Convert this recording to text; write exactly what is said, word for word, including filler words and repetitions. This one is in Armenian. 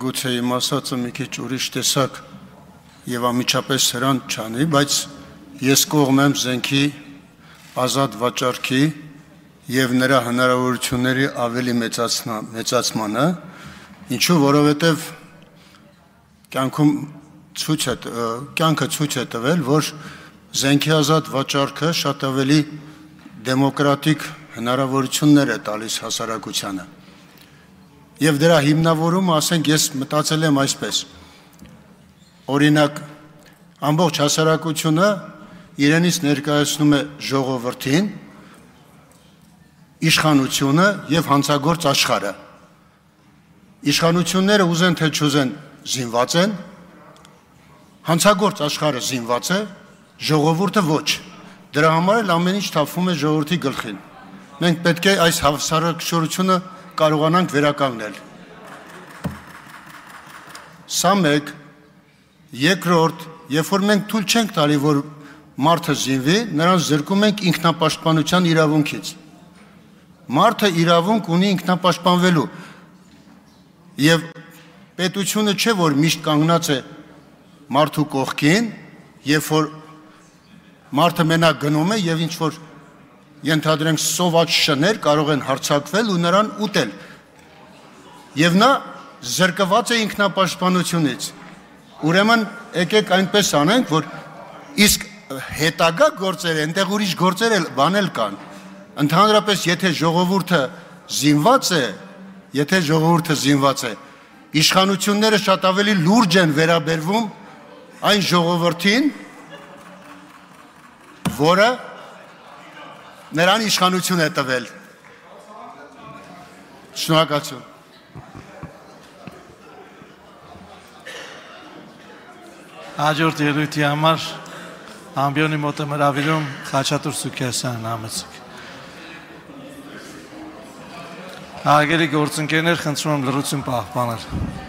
գուցե իմ ասածը մի քիչ ուրիշ տեսակ եւ ամիջապես սրան չանի, բայց ես կողմ եմ զենքի ազատ վաճառքի եւ նրա հնարավորությունների ավելի մեծացմանը, ինչու որովհետեւ կյանքում ցույց է կյանքը ցույց է տվել, որ զենքի ազատ վաճառքը շատ ավելի դեմոկրատիկ հնարավորություններ է տալիս հասարակությանը։ Եվ դրա հիմնավորումը, ասենք, ես մտածել եմ այսպես. օրինակ, ամբողջ հասարակությունը իրենից ներկայացնում է ժողովրդին, իշխանությունը եւ հանցագործ աշխարհը։ Իշխանությունները ուզեն թե չուզեն զինված են, հանցագործ աշխարհը զինված է, ժողովուրդը ոչ։ Դրա համար էլ ամեն ինչ թափվում է ժողովրդի գլխին։ Մենք պետք է այս հավասարակշռությունը կարողանանք վերականգնել։ Սա մեկ, երկրորդ, երբ որ մենք թույլ չենք տալի, որ մարդը զինվի, նրան զրկում ենք ինքնապաշտպանության իրավունքից։ Մարդը իրավունք ունի ինքնապաշտպանվելու։ Եվ պետությունը չէ, որ միշտ կանգնած է մարդու կողքին, երբ որ մարդը մենակ գնում է եւ ինչ որ ենթադրենք սոված շներ կարող են հարձակվել ու նրան ուտել։ Եվ նա զրկված է ինքնապաշտպանությունից։ Ուրեմն եկեք այնպես անենք, որ իսկ հետագա գործերը, այնտեղ ուրիշ գործեր էլ բանել կան։ Ընդհանրապես, եթե ժողովուրդը զինված է, եթե ժողովուրդը զինված է, իշխանությունները շատ ավելի լուրջ են վերաբերվում այն ժողովրդին, որը նրան իշխանություն է տվել։ Շնորհակալություն։ Հաջորդ ելույթի համար ամբիոնի մոտ է մրավիրում Խաչատուր Սուքիասյանն համեցեք։ Հարգելի գործընկերներ, խնդրում եմ լռություն պահպանել։